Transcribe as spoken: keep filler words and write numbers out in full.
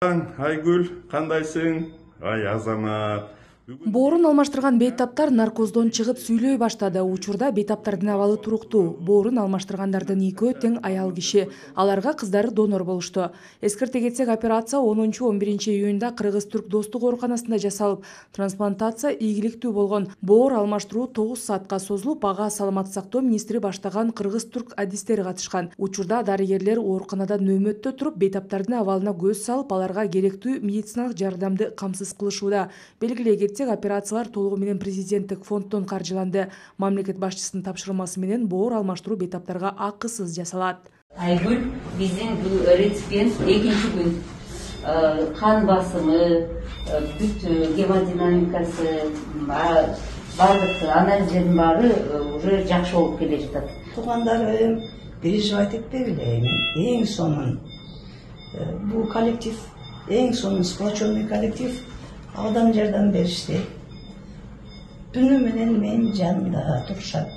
Айгүл, кандайсың? Ай Азамат. Боорун алмаштырган бейтаптар наркоздон чыгып сүйлөй баштады. Учурда бейтаптардын абалы туруктуу. Боорун алмаштыргандардын экөө тең аял киши. Аларга кыздары донор болушту. Эскерте кетсек, операция онунчу он биринчи июнда Кыргыз-Түрк достук ооруканасында жасалып, трансплантация ийгиликтүү болгон. Боор алмаштыруу тогуз саатка созулуп, ага саламаттык сактоо министри баштаган Кыргыз-Түрк адистери катышкан. Учурда дарыгерлер ооруканада нөөмөттө туруп, бейтаптардын абалына көз салып, аларга керектүү медициналык жардамды камсыз кылышууда. Белгилей кетсек, операциялар толугу менен президенттик фонддон каржыланды. Мамлекет башчысынын тапшырмасы менен боор алмаштыруу бейтаптарга акысыз жасалат. Айгүл биздин бул реципиент экинчи күн кан басымы, бүт гемодинамикасы, баардык анализдердин баары уже жакшы болуп келе жатат. Туугандарым переживать этпегиле, эң сонун бул коллектив, эң сонун сплоченный коллектив. Алдан жардам беришти. Түнү менен менин жанымда турушат.